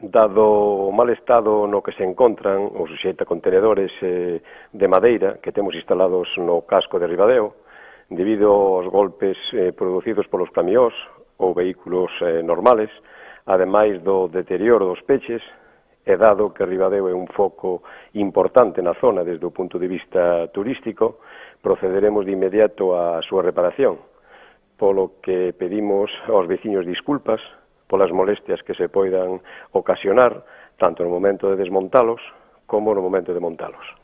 Dado o mal estado no que se encontran os xeitacontenedores de madeira que temos instalados no casco de Ribadeo, debido aos golpes producidos polos camións ou vehículos normales, ademais do deterioro dos peches, e dado que Ribadeo é un foco importante na zona desde o punto de vista turístico, procederemos de inmediato á súa reparación, polo que pedimos aos veciños disculpas polas molestias que se poidan ocasionar tanto no momento de desmontalos como no momento de montalos.